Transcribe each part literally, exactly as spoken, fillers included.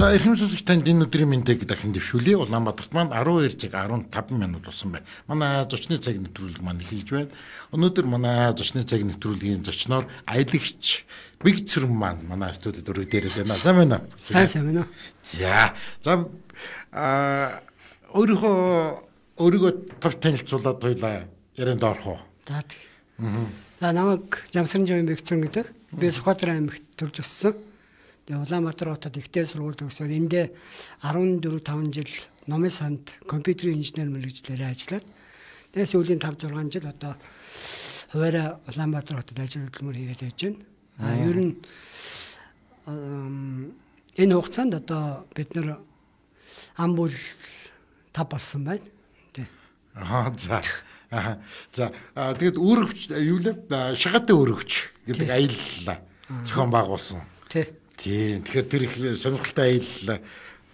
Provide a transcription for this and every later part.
За эрхэм сонсогч танд энэ өдрийн мэндийг дахин дэвшүүлье. Улаанбаатарт маань арван хоёр цаг арван таван минут болсон байна. Манай зочны цаг нэвтрүүлэг маань эхэлж байна. Өнөөдөр манай зочны цаг нэвтрүүлгийн зочноор аялагч Бэг Цэрэн маань манай студид өргөдөөд байна. Сайн байна уу? Сайн сайн байна уу? За. За а өөрийнхөө өөрийгөө тав танилцуулаад хоёлаа ярианд орох уу? За тэг. За намайг Жамсран Жавын Бэг Цэрэн гэдэг. Би Сүхбаатар аймагт төрж өссөн. Тэгээ Улаанбаатар хотод ихтэй сургууль төгсөөд эндээ арван дөрөв таван жил номын санд компьютерийн инженер мэргэжлэрээ ажиллаад тэгээ сүүлийн тавь зургаан жил одоо хуваараа Улаанбаатар хотод ажил хөдөлмөр хийгээд байж байна. А ер нь энэ хугацаанд одоо бид нар ам бүл тав болсон байна. Тий. Аа за. Аа за тэгээд өөрөвч юу лээ шагатай өөрөвч гэдэг аялал зохион байгуулсан. Тий. Тийм. Тэгэхээр тэр их сонирхолтой аялал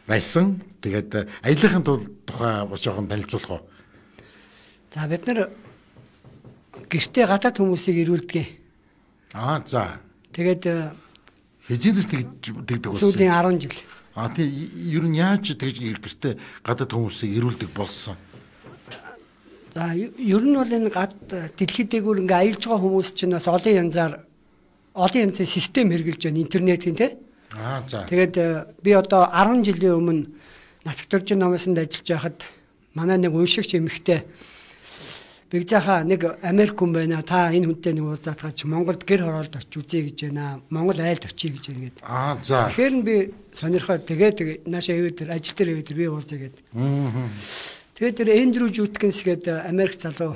байсан. Тэгээд аяллахын тухай бас жоохон танилцуулах уу? За бид нар гэртээ гадаад хүмүүсийг ирүүлдэг. Аа за. Тэгээд хизээдээс тэгдэг болсон. Сүүлийн арван жил. Аа тийм ер нь яаж тэгж гэртээ гадаад хүмүүсийг ирүүлдэг болсон? За ер нь бол энэ гад дэлхийд дээгүүр ингээ аялж байгаа хүмүүс чинь бас олон янзаар олон янзын систем хэрэгжилж байна интернетийн тий. Аа за. Тэгээд би одоо арван жилийн өмнө Нацаг дөржин номосонд ажиллаж байхад манай нэг уншигч эмэгтэй Бэг заахаа нэг Америк хүн байна. Та энэ хүнтэй нэг уулзаад гаж Монголд гэр хороолд очиж үзье гэж байна. Монгол айлд очие гэж байна гэдэг. Аа за. Тэгэхээр би сонирхоод тэгээд наашаа ивэд ажил дээр ивэд би уулзъя гэдэг. Аа. Тэгээд тэр Эндрю Жуткинс гэдэг Америк залуу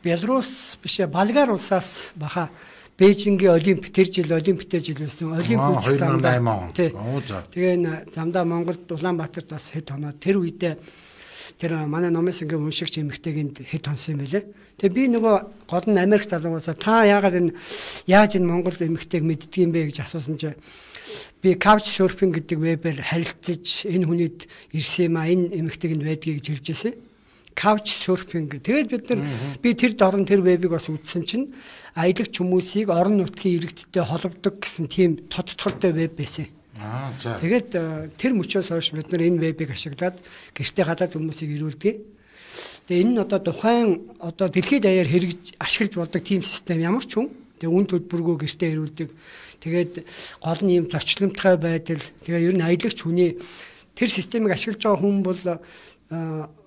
Белорус биш Болгар улсаас баха Бээжингийн Олимп тэр жил Олимптэй жил байсан. Олимп үзэх замдаа. Тэгээ замдаа Монголд Улаанбаатарт бас хэд хоноо тэр үедээ тэр манай номын сангийн уншигч эмэгтэйгэнд хэд хонсон юм бэлээ. Тэгээ би нөгөө гол нь Америк залуугаас та яагаад энэ яаж энэ Монгол эмэгтэйг мэддэг юм бэ гэж асуусан чинь би couch surfing гэдэг вебээр харилцаж энэ хүнийд ирсэн юм а энэ эмэгтэйг нь байдгийг гэж хэлж байсан. Couch surfing. Тэгээд бид нар би тэр дорн тэр вебийг бас үзсэн чинь аялагч хүмүүсийг орон нутгийн иргэдтэй холбодог гэсэн тийм тодтолтой веб байсан. Аа за. Тэгээд тэр мөчөөс хойш бид нар энэ вебийг ашиглаад гэртээ гадаад хүмүүсийг ирүүлдэг. Тэгээ энэ нь одоо тухайн одоо дэлхийд даяар хэрэгж ашиглаж болдог тийм систем ямар ч хүн тэгээ үн төлбөргөө гэртээ ирүүлдэг. Тэгээд гол нь ийм зорчломтгой байдал тэгээ ер нь аялагч хүний тэр системийг ашиглаж байгаа хүн бол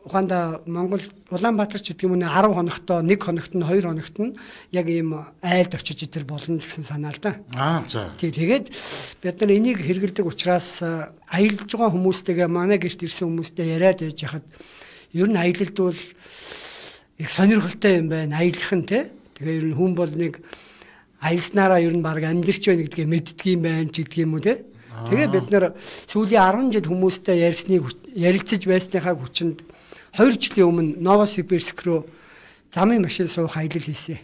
Ухаанда Монгол Улаанбаатар ч гэдэг юм уу арав хоногтоо нэг хоногт нь хоёр хоногт нь яг ийм айлд очиж идэр болно гэсэн санаа л да. Аа за. Тий тэгээд бид нар энийг хэрэгэлдэг учраас аялж байгаа хүмүүстэйгээ манай гэрт ирсэн хүмүүстэй яриад байж хахад ер нь аялалд бол их сонирхолтой юм байна. Аялах нь тий. Тэгээ ер нь хүн бол нэг аялснараа ер нь баг амьдэрч байна гэдгээ мэддэг юм байна ч гэдэг юм уу тий. Тэгээ бид нар сүүлийн арван жил хүмүүстэй ярьсныг ярилцаж байсныхаа хүчинд хоёр жилийн өмнө Новосибирск руу замын машин суух аялал хийсэн.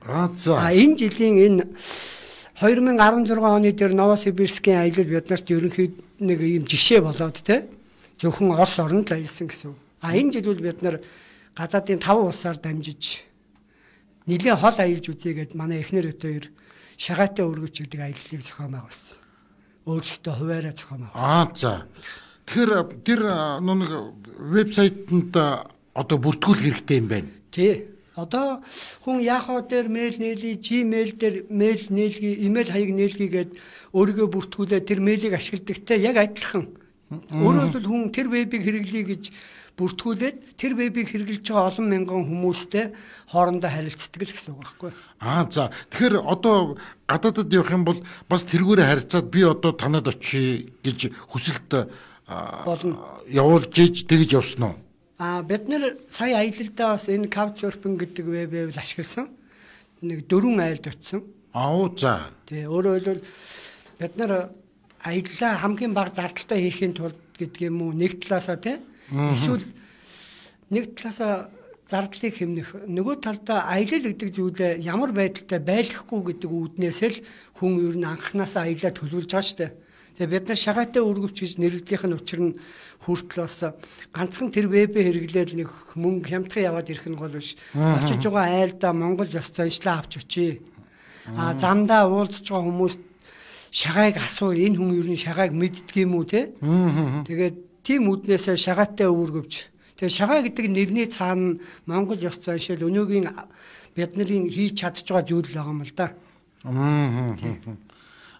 Аа за. А энэ жилийн энэ две тысячи десять оны дээр Новосибирскийн аялал бид нарт ерөнхийд нэг ийм жишээ болоод те зөвхөн Орос оронд л аялсан гэсэн. А энэ жил бол бид нар гадаадын таван улсаар дамжиж нэлээд хол аялж үзье гэд манай эхнэр өтөөр шагаатай өргөч гэдэг аяллыг зохион байгуулсан. Өөрсдөө хуваараа зохион байгуулсан. Аа за. Тэгэхээр тэр нэг вебсайтанд одоо бүртгүүл хэрэгтэй юм байна. Тий. Одоо хүн Yahoo дээр мэйл нээлий, Gmail дээр мэйл нээлгий, имэйл хаяг нээлгийгээд өөрийгөө бүртгүүлээ тэр мэйлийг ашигладагтай яг адилхан. Өөрөөр хэлбэл хүн тэр вебийг хэрэглэе гэж бүртгүүлээд тэр вебийг хэрэглэж байгаа олон мянган хүмүүстэй хоорондоо харилцдаг л гэсэн үг байхгүй. Аа за. Тэгэхээр одоо гадаадд явах юм бол бас тэргүүрээ харьцаад би одоо танад очие гэж хүсэлт болно. Явуулж иж тэгж явсан уу? Аа бид нэр сая аялалдаа бас энэ couchsurfing гэдэг вебийг ашигласан. Нэг дөрвөн айлд очсон. Аа за. Тэ өөрөөр хэлбэл бид нар аяллаа хамгийн бага зардалтай хийхин тулд гэдэг юм уу нэг талаасаа тий эсвэл нэг талаасаа зардлыг хэмнэх нөгөө талдаа аялал гэдэг зүйлээ ямар байдалтай байлгахгүй гэдэг үүднээс л хүн ер нь анханасаа аялаа төлөвлөж байгаа шүү дээ. Тэгээ бид нар шагаатай өргөвч гэж нэрлэдгийнх нь учир нь хүртэл бас ганцхан тэр вебээ хэрэглээд нэг мөнгө хямдхан яваад ирэх нь гол биш. Очиж байгаа айлдаа Монгол ёс заншлаа авч очие. А замдаа уулзж байгаа хүмүүс шагааг асуу энэ хүн юу н шагааг мэддэг юм уу те. Тэгээд тийм үднээс шагаатай үүргэвч. Тэгээд шагаа гэдэг нэрний цаана Монгол ёс зүйн шил өнөөгийн бид нарын хийж чадж байгаа зүйл байгаа юм л да.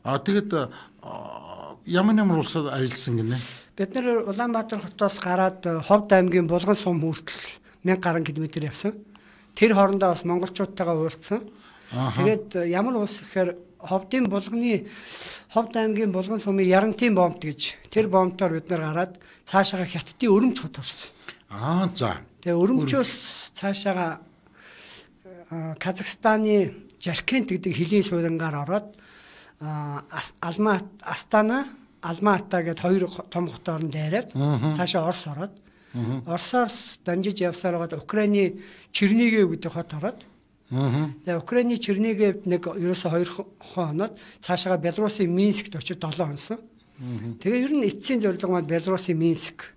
Аа тэгээд ямар ямар улсад ажилласан гинэ? Бид нар Улаанбаатар хотоос гараад Ховд аймгийн Булган сум хүртэл мянга гаруй километр явсан. Тэр хоорондоо бас монголчуудтайгаа уулзсан. Тэгээд ямар улс гэхээр Ховдын Булганы Ховд аймгийн Булган сумын Ярантын бомбт гэж тэр бомбтоор бид нар гараад цаашаага Хятадын Өрөмч хот орсон. Аа за. Тэгээ Өрөмчөөс цаашаага Казахстаны Жаркент гэдэг хилийн суурингаар ороод Алма Астана Алмата гэдэг хоёр том хотоор нь дайраад цаашаа Орос ороод Оросоос дамжиж явсаар байгаа Украины Чернигов гэдэг хот ороод тэгээ Украины Черниговд нэг ерөөсөө хоёр хоноод цаашаа Белорусын Минскт очиж долоо хонсон. Тэгээ ер нь эцсийн зорилго маань Белорусын Минск.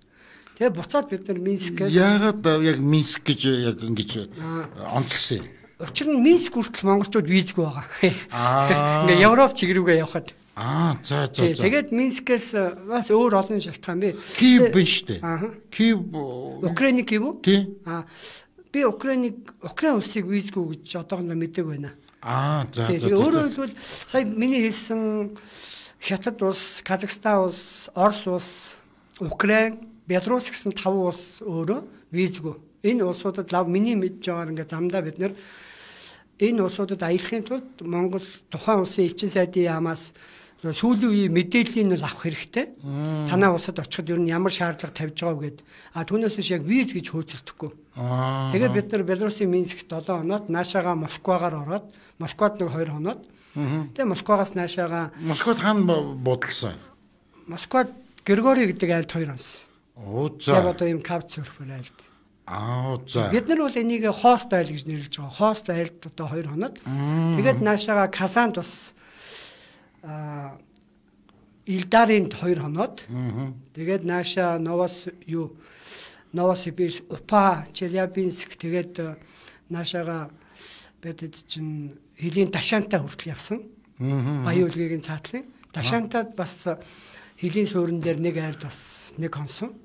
Тэгээ буцаад бид нар Минскээс яагаад яг Минск гэж яг ингэж онцлсан юм? Учир нь Минск хүртэл монголчууд визгүй байгаа. Аа. Ингээ Европ чиг рүүгээ явхад. Аа за за за. Тэгээд Минскээс бас өөр олон шалтгаан бий. Киев биш үү? Аа. Киев Украины Киев үү? Тий. Аа. Би Украиныг Украин улсыг визгүй гэж одоохондоо мэддэг байна. Аа за за. Тэгээд өөрөөр хэлбэл сая миний хэлсэн Хятад улс, Казахстан улс, Орос улс, Украин, Беларусь гэсэн таван улс өөрөө визгүй. Энэ улсуудад лав миний мэдж байгаагаар ингээ замдаа бид нэр энэ улсуудад аялахын тулд Монгол тухайн улсын элчин сайдын яамаас сүүлийн үеийн мэдээллийг нь авах хэрэгтэй. Танаа улсад очиход ер нь ямар шаардлага тавьж байгааг гээд а түүнээс биш яг виз гэж хөөцөлдөхгүй. Тэгээд бид нар Белорусын Минскт долоо хоноод наашаага Москвагаар ороод Москвад нэг хоёр хоноод тэгээд Москвагаас наашаага Москвад хаана бодлсон? Москвад Григорий гэдэг айлд хоёр онс. Оо за. Яг одоо юм каучсерфер айлд. Аа за. Бид нар бол энийг хост айл гэж нэрлэж байгаа. Хост айлд одоо хоёр хоноод. Тэгээд наашаага Казанд бас а Илдарынд хоёр хоноод. Тэгээд нааша Новос юу Новосибирск, Упа, Челябинск тэгээд наашаага бид чинь Хилийн Дашантай хүртэл явсан. Баян үлгийн цаатлын. Дашантад бас Хилийн суурин дээр нэг айлд бас нэг хонсон.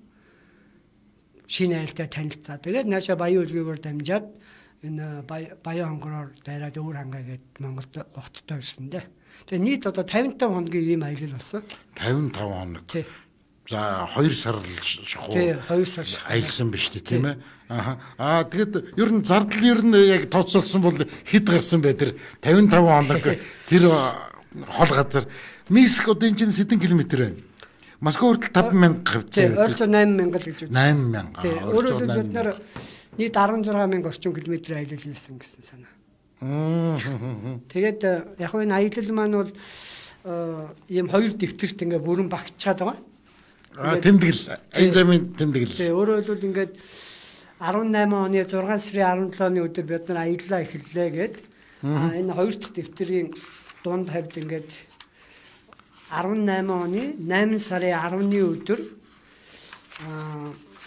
Шинэ айлтай танилцаа. Тэгээд нааша Баян үлгийгээр дамжаад энэ Баян хонгороор дайраад өөр хангаа гээд Монголд хоттой ирсэн дээ. Тэгээ нийт одоо тавин таван хоногийн ийм аялал болсон. тавин таван хоног. Тий. За хоёр сар л шахуу. Тий, хоёр сар аялсан биш тийм ээ. Аа. Аа тэгэд ер нь зардал ер нь яг тооцоолсон бол хэд гарсан бай тэр тавин таван хоног тэр хол газар Минск одоо энэ чинь хэдэн километр байна? Москва хүртэл таван мянга хавцаа. Тий, ойролцоо найман мянга л гэж үү. найман мянга. Өөрөөр хэлбэл бид нар нийт арван зургаан мянга орчим километр аялал хийсэн гэсэн санаа. Тэгээд яг энэ аялал маань бол ийм хоёр дэвтэрт ингээ бүрэн багтчаад байгаа. Аа тэмдэглэл. Энэ замын тэмдэглэл. Тэгээ өөрөөр хэлбэл ингээд арван найман оны зургаан сарын арван долооны өдөр бид нар аяллаа эхэллээ гээд энэ хоёр дахь дэвтэрийн дунд хавьд ингээд арван найман оны найман сарын арваны өдөр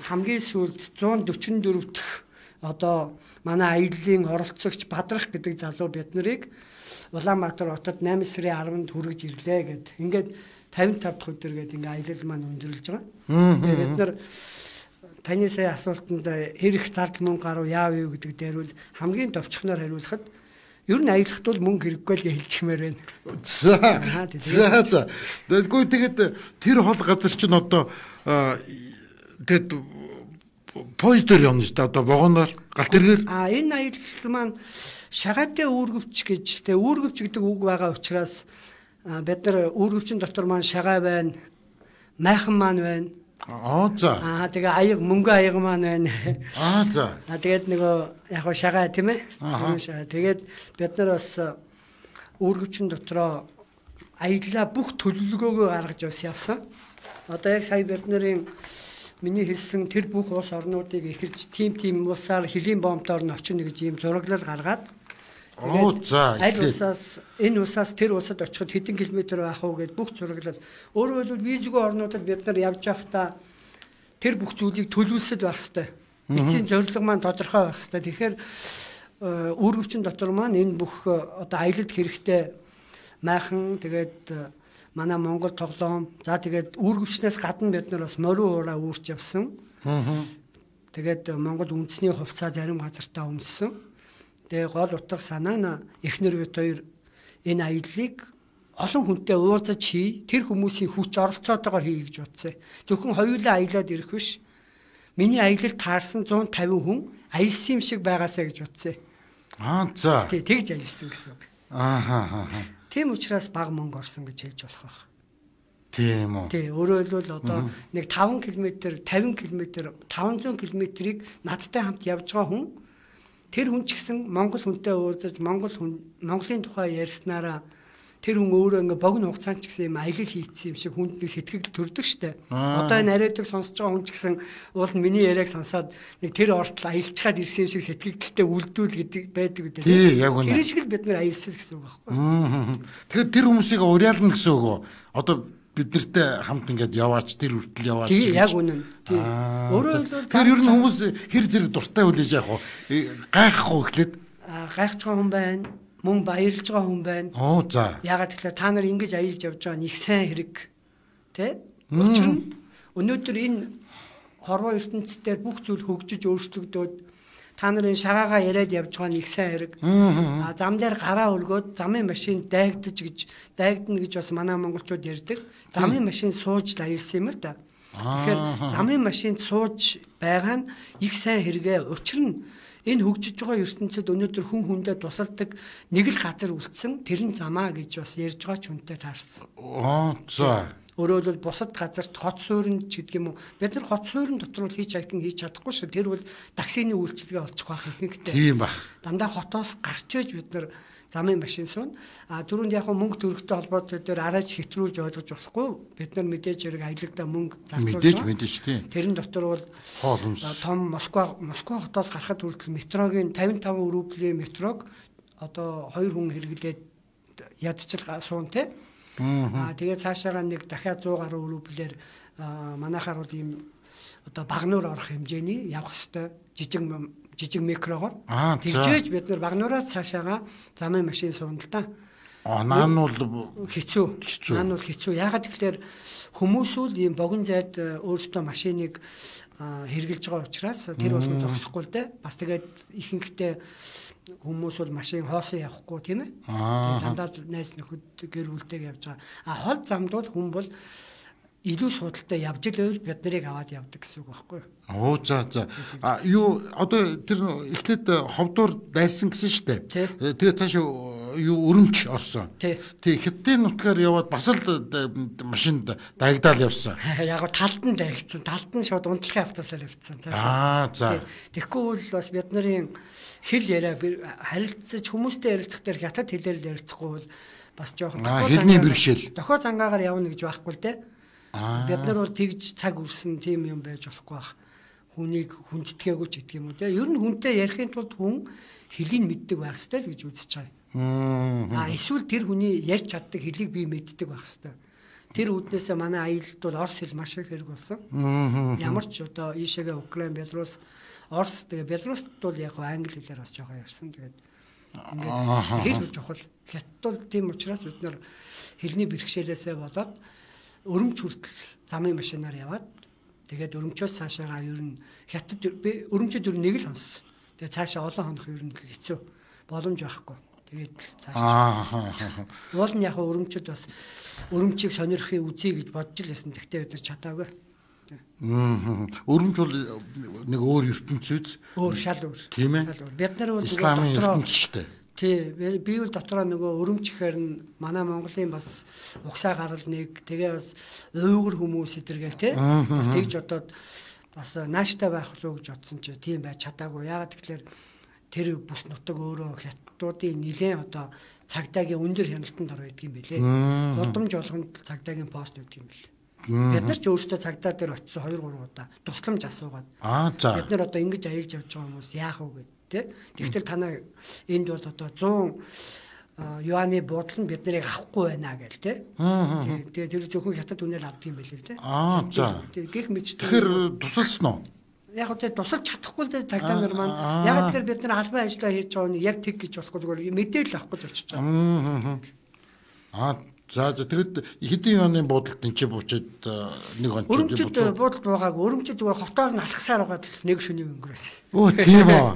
хамгийн сүүлд зуун дөрвөн дөрөв дахь одоо манай аяллаа оролцогч Бадрах гэдэг залуу бид нарыг Улаанбаатар хотод найман сарын арванд хүргэж ирлээ гэд. Ингээд тавин тав дахь өдөр гээд ингээ аялал маань өндөрлөж байгаа. Тэгээд бид нар таны сая асуултанд хэрэг зардал мөнгө гарав яав юу гэдэг дээр бол хамгийн товчхоноор хариулахад ер нь аялахт бол мөнгө хэрэггүй л хэлчихмээр байна. За. За за. Тэгэхгүй тэгээд тэр хол газар чинь одоо тэгэд поездэр явна шүү дээ. Одоо вагоноор галт эргээр. А энэ аялал маань шагаатай үүргэвч гэж тэгээ үүргэвч гэдэг үг байгаа учраас бид нар үүргэвчин дотор маань шагаа байна, майхан маань байна. Аа за. Аа тэгээ аяг мөнгө аяг маань байна. Аа за. Аа тэгээд нөгөө яг хоо шагаа тийм ээ. Шагаа. Тэгээд бид нар бас үүргэвчин дотроо аяллаа бүх төлөвлөгөөгөө гаргаж бас явсан. Одоо яг сая бид нарын миний хэлсэн тэр бүх улс орнуудыг эхэлж тим тим улсаар хилийн бомбдоор нь очино гэж ийм зураглал гаргаад оо за аль улсаас энэ улсаас тэр улсад очиход хэдэн километр байх уу гэд бүх зураглал өөрөөр хэлбэл визгүй орнуудад бид нар явж байхдаа тэр бүх зүйлийг төлөвлөсөд байх хэрэгтэй. Эцсийн зорилго маань тодорхой байх хэрэгтэй. Тэгэхээр үүргэвчин дотор маань энэ бүх одоо аялалд хэрэгтэй майхан тэгээд манай Монгол тоглоом. За тэгээд үүргэвчнээс гадна бид нар бас морин уураа үүрч явсан. Тэгээд Монгол үндэсний хувцас зарим газартаа өмссөн. Тэгээ гол утга санаа нь эхнэр бид хоёр энэ аяллыг олон хүнтэй уулзаж хий, тэр хүмүүсийн хүч оролцоотойгоор хий гэж бодсон. Зөвхөн хоёулаа аялаад ирэх биш. Миний аялалд таарсан зуун тавин хүн аялсан юм шиг байгаасаа гэж бодсон. Аа за. Тий, тэгж аялсан гэсэн үг. Аа аа. Тийм учраас баг мөнгө орсон гэж хэлж болох байх. Тийм үү. Тий, өөрөөр хэлбэл одоо нэг таван километр, тавин километр, таван зуун километрийг надтай хамт явж байгаа хүн тэр хүн ч гэсэн Монгол хүнтэй уулзаж Монгол хүн Монголын тухай ярьснараа тэр хүн өөрөө ингээ богино хугацаанд ч гэсэн юм аялал хийцсэн юм шиг хүнд нэг сэтгэл төрдөг штэ. Одоо энэ яриадаг сонсож байгаа хүн ч гэсэн уул нь миний яриаг сонсоод нэг тэр ортол аялцгаад ирсэн юм шиг сэтгэлдэлтэй үлдүүл гэдэг байдаг үү. Тий, яг үнэ. Тэр шиг л бид нар аялсан гэсэн үг байхгүй. Тэгэхээр тэр хүмүүсийг уриална гэсэн үг үү? Одоо бид нартэй хамт ингээд яваач тэр хүртэл яваач. Тий, яг үнэн. Тий. Өөрөө л тэр ер нь хүмүүс хэр зэрэг дуртай хүлээж яах вэ? Гайхгүй эхлээд. Аа, гайхаж байгаа хүн байна. Мөн баярлж байгаа хүн байна. Оо за. Ягаад гэвэл та нар ингэж аялж явж байгаа нь их сайн хэрэг. Тэ? Учир нь өнөөдөр энэ хорвоо ертөнцийн бүх зүйл хөгжиж өөрчлөгдөөд та нарын шагаагаа яриад явж байгаа нь их сайн хэрэг. Аа зам дээр гараа өргөөд замын машин дайгдаж гэж дайгдана гэж бас манай монголчууд ярьдаг. Замын машин сууж аялсан юм л да. Тэгэхээр замын машинд сууж байгаа нь их сайн хэрэгэ. Учир нь энэ хөгжиж байгаа ертөнцид өнөөдөр хүн хүндээ тусалдаг нэг л газар үлдсэн тэр нь замаа гэж бас ярьж байгаа ч хүнтэй таарсан. Аа за. Өөрөөр хэлбэл бусад газарт хот суурин ч гэдэг юм уу. Бид нар хот суурин дотор бол хийж хайхин хийж чадахгүй шүү. Тэр бол таксины үйлчилгээ олчих байх ихэнхдээ. Тийм ба. Дандаа хотоос гарч ээж бид нар замын машин суун. А түрүүнд яг мөнгө төрөхтэй холбоотой дээр арайч хэтрүүлж ойлгож болохгүй. Бид нар мэдээж хэрэг аялагдаа мөнгө зарцуулж мэдээж мэдээж тийм. Тэрэн дотор бол том Москва Москва хотоос гарахад хүртэл метрогийн тавин таван рублийн метрог одоо хоёр хүн хэрэглээд ядчил суун те. Аа тэгээд цаашаага нэг дахиад сто гаруй рублээр манайхаар бол ийм одоо багнуур орох хэмжээний явах ёстой жижиг жижиг микрогоор тэгжээж бид нар багнуураас цаашаага замын машин суун л да. Аа наан бол хэцүү. Наан бол хэцүү. Яагаад гэвэл хүмүүс үл ийм богино зайд өөрсдөө машиныг хэрглэж байгаа учраас тэр бол зогсохгүй л дээ. Бас тэгээд ихэнхдээ хүмүүс бол машин хоосон явахгүй тийм ээ. Дандаа найз нөхөд гэр бүлтэйг явж байгаа. А хол замд бол хүн бол илүү судалтай явж ирэвэл бид нарыг аваад явдаг гэсэн үг байхгүй юу? Оо за за. А юу одоо тэр эхлээд ховдуур дайсан гэсэн шүү дээ. Тэгээ цааш юу өрөмч орсон. Тий хятадын нутгаар яваад бас л машинд дайгдаал явсан. Яг нь талд нь дайгдсан. Талд нь шууд унтлахын автобусаар явцсан. Аа за. Тэгэхгүй бол бас бид нарын хэл яриа харилцаж хүмүүстэй ярилцах дээр хятад хэлээр ярилцахгүй бол бас жоохон хэлний бэрхшээл. Дохоо цангаагаар явна гэж байхгүй л дээ. Бид нар бол тэгж цаг үрсэн тийм юм байж болохгүй байх. Хүнийг хүндэтгээгүй ч гэдэг юм уу те. Ер нь хүнтэй ярихын тулд хүн хэлийг мэддэг байх хэрэгтэй гэж үзэж байгаа. Аа эсвэл тэр хүний ярьж чаддаг хэлийг би мэддэг байх хэрэгтэй. Тэр үднээсээ манай аялалд бол орос хэл маш их хэрэг болсон. Ямар ч одоо ийшээгээ Украин, Белорус, Орос тэгээ Белорусд бол яг англи хэлээр бас жоохон ярьсан. Тэгээд ингээд хэл чухал. Хятад бол тийм учраас бид нар хэлний бэрхшээлээсээ болоод өрөмч хүртэл замын машинаар яваад тэгээд өрөмчөөс цаашаага ер нь хятад би өрөмчөд ер нь нэг л хонсон. Тэгээд цаашаа олон хонох ер нь хэцүү. Боломж байхгүй. Тэгээд цаашаа. Уул нь яг өрөмчөд бас өрөмчийг сонирхохын үзье гэж бодож л байсан. Тэгтээ бид нар чадаагүй. Өрөмч бол нэг өөр ертөнцөөс. Өөр шал өөр. Тийм ээ. Бид нар бол исламын ертөнц шүү дээ. Тий, би бол дотроо нөгөө өрөмчөөр нь манай Монголын бас угсаа гарал нэг тэгээ бас уугар хүмүүс идэргээл тий. Бас тэгж одоод бас нааштай байх болов гэж бодсон чи тийм байж чадаагүй. Яагаад тэгэхээр тэр бүс нутаг өөрөө хятадуудын нэлээд одоо цагдаагийн өндөр хяналтанд ор байдаг юм билээ. Гудамж болгонд цагдаагийн пост байдаг юм билээ. Бид нар ч өөрсдөө цагдаа дээр очисон хоёр гурван удаа тусламж асуугаад. Бид нар одоо ингэж аялж явж байгаа хүмүүс яах вэ гэдэг. Тэгэхээр танаа энд бол одоо зуун юаны буудлын бид нарыг авахгүй байна гэл тэ. Тэгээ тэр зөвхөн хятад үнээр авдаг юм байл л тэ. Аа за. Гэх мэт. Тэгэхээр тусалсан уу? Яг тэ тусалж чадахгүй л тэ цагдаа нар маань. Яг тэгэхээр бид нар албан ажиллаа хийж байгаа нь яг тэг гэж болохгүй зүгээр мэдээлэл авах гэж очиж байгаа. Аа За за тэгэд хэдийн оны буудалд энэ ч буучаад нэг он ч өрөмчөд буудалд байгааг өрөмчөд зүгээр хотоор нь алхасаар байгаад нэг шөнийг өнгөрөөсөн. Оо тийм үү.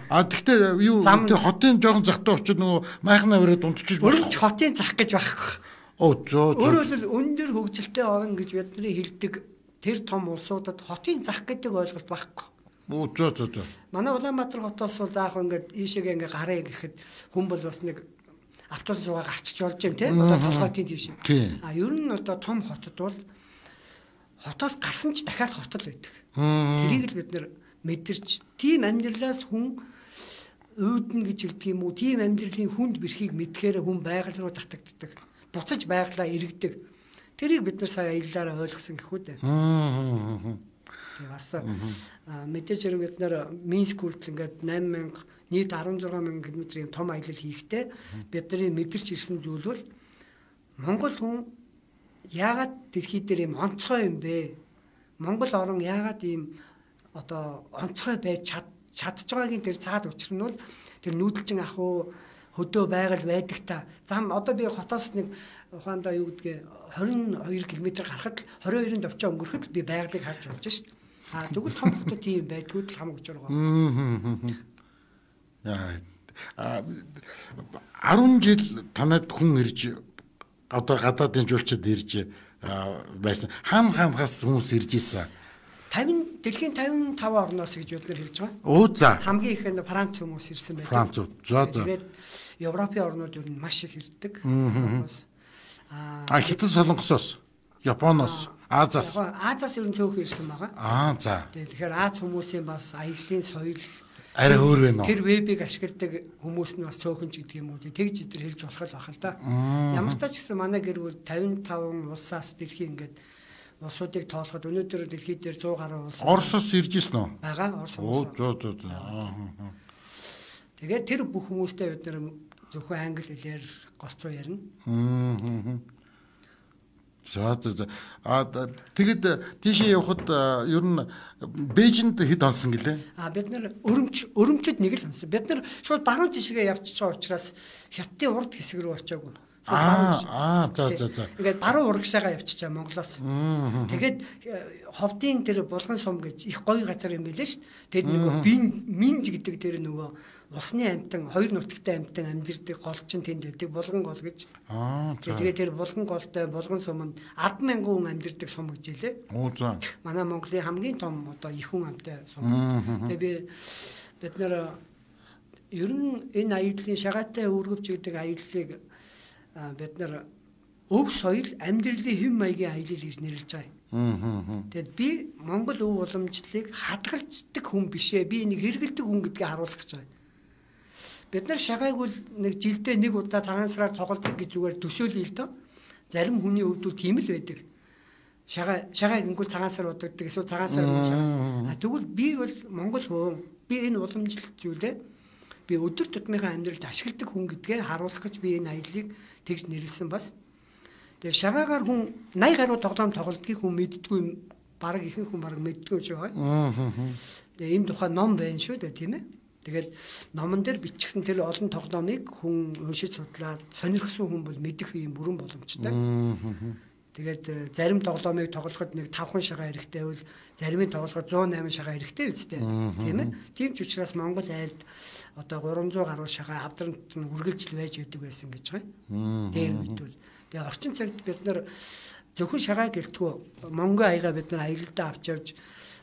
А тэгтээ юу тэр хотын жоохон захтай очоод нөгөө майхнаа өрөөд унтчих болох. Өрөмч хотын зах гэж байхгүй. Оо зөө зөө. Өөрөөр хэлбэл өндөр хөгжилтэй орн гэж бидний хэлдэг тэр том улсуудад хотын зах гэдэг ойлголт байхгүй. Оо зөө зөө зөө. Манай Улаанбаатар хотоос бол заах ингээд ийшээгээ ингээ гараа гэхэд хүн бол бас нэг автобус зугаа гарчиж болж байна тийм одоо толгойн тийш. А ер нь одоо том хотод бол хотоос гарсан ч дахиад хотод байдаг. Тэрийг л бид нэр мэдэрч тийм амьдралаас хүн үүднэ гэж хэлдэг юм уу? Тийм амьдралын хүнд бэрхийг мэдхээр хүн байгаль руу татагддаг. Буцаж байгалаа иргэдэг. Тэрийг бид нар сая аяллаараа ойлгосон гэхүү дээ. Тэгээ бас мэдээж хэрэг бид нар Минск хүртэл ингээд восемь мянга нийт арван зургаан мянган км-ийн том аялал хийхдээ бидний мэдэрч ирсэн зүйл бол Монгол хүн яагаад дэлхий дээр юм онцгой юм бэ? Монгол орн яагаад ийм одоо онцгой байж чадж байгаагийн тэр цаад учир нь бол тэр нүүдэлчин ах уу хөдөө байгаль байдаг та. Зам одоо би хотоос нэг ухаандаа юу гэдгээ двадцать и two км гарахад twenty-two товчоо өнгөрөхөд би байгалыг харж болж шít. А тэгвэл том хотод тийм байдгүй л хамаг учир байгаа. Яа ten жил танад хүн ирж одоо гадаадын жуулчид ирж байсан. Хаан хаанхаас хүмүүс ирж исэн. fifty дэлхийн fifty-five орноос гэж бид нар хэлж байгаа. Оо за. Хамгийн их нь Франц хүмүүс ирсэн байдаг. Франц. За за. Тэгээд Европын орнууд ер нь маш их ирдэг. Аа Хятад Солонгосоос, Японоос, Азаас. Азаас ер нь цөөхөн ирсэн байгаа. Аа за. Тэгэхээр Аз хүмүүсийн бас аяллаа соёл арай өөр байна уу? Тэр вебийг ашигладаг хүмүүс нь бас цөөхөн ч гэдэг юм уу. Тэгж идэр хэлж болох л байх л да. Ямар ч тач гэсэн манай гэр бүл fifty-five улсаас дэлхийн ингээд улсуудыг тоолоход өнөөдөр дэлхийд дээр one hundred гаруй улс Оросоос ирж ирсэн үү? Бага Орос. Оо зөө зөө зөө. Тэгээд тэр бүх хүмүүстэй бид нар зөвхөн англи хэлээр голцоо ярина. Аа. За за за. А тэгэд тийшээ явхад ер нь Бээжинд хэд онсон гэлээ? А бид нар өрөмч өрөмчөд нэг л онсон. Бид нар шууд баруун тишгээ явчихж байгаа учраас Хятадын урд хэсэг рүү очиагүй. Аа аа за за за. Ингээд баруун урагшаага явчихчаа Монголоос. Тэгээд ховдын тэр булган сум гэж их гоё газар юм билээ шүү дээ. Тэр нөгөө бин минж гэдэг тэр нөгөө усны амтан хоёр нутагтай амтан амьдэрдэг гол чинь тэнд байдаг булган гол гэж. Аа за. Тэгээд тэр булган голтой булган суманд ten thousand хүн амьдэрдэг сум гэж хэлээ. Оо за. Манай Монголын хамгийн том одоо их хүн амтай сум. Тэгээд би бид нэр ер нь энэ аяллаа шагаатай өргөвч гэдэг аяллыг бид нар өв соёл амьдралын хэм маягийн аялал гэж нэрлэж байгаа. Тэгэд би Монгол өв уламжлалыг хадгалждаг хүн бишээ. Би нэг хэрэгэлдэг хүн гэдгийг харуулах гэж байгаа. Бид нар шагайг бол нэг жилдээ нэг удаа цагаан сараар тоглодог гэж зүгээр төсөөлөе л доо. Зарим хүний хувьд бол тийм л байдаг. Шагай шагай гингүүл цагаан сар удагддаг эсвэл цагаан сар шагай. А тэгвэл би бол Монгол хүн. Би энэ уламжлалт зүйлээ би өдөр тутмынхаа амьдралд ашигладаг хүн гэдгээ харуулах гэж би энэ аяллыг тэгж нэрлсэн бас. Тэгээ шагаагаар хүн eighty гаруй тоглоом тоглодгийг хүн мэддэггүй бараг ихэнх хүн бараг мэддэггүй шүү байгаа. Тэгээ энэ тухай ном байна шүү дээ тийм ээ. Тэгээд номон дээр бичсэн тэр олон тоглоомыг хүн уншиж судлаад сонирхсан хүн бол мэдэх юм бүрэн боломжтой. Тэгээд зарим тоглоомыг тоглоход нэг five шагаа хэрэгтэй бол заримыг тоглоход one oh eight шагаа хэрэгтэй үстэй тийм ээ. Тийм ч учраас Монгол айлд одоо three hundred гаруй шагаа авдралт нь үргэлжил байж байдаг байсан гэж байгаа. Дээр үйтвэл тэгээ орчин цагт бид нар зөвхөн шагаа гэлтгүү Монгол аяга бид нар аялалдаа авч явж